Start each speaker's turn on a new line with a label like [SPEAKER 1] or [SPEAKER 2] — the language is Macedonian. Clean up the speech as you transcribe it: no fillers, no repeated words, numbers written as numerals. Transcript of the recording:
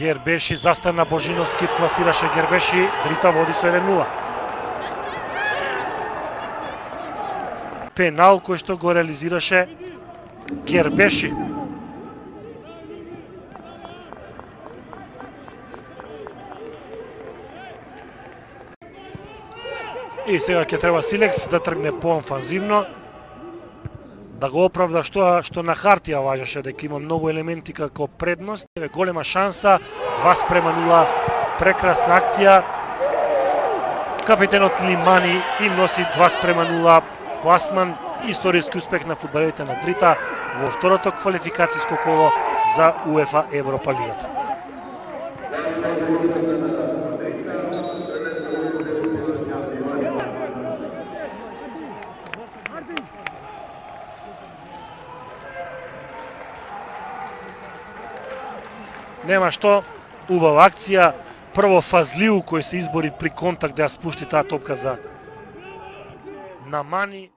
[SPEAKER 1] Гербеши застана, Божиновски пласираше Гербеши, Дрита води со 1-0. Пенал кој што го реализираше Гербеши. И сега ќе треба Силекс да тргне по-офанзивно, да го оправда што на хартија важеше дека има многу елементи како предност. Голема шанса, 2:0, прекрасна акција. Капитенот Лимани им носи 2:0 пласман, историски успех на фудбалерите на Дрита во второто квалификацијско коло за УЕФА Европа лигата. Нема што, убава акција, прво Фазлиу кој се избори при контакт да ја спушти таа топка за Намани.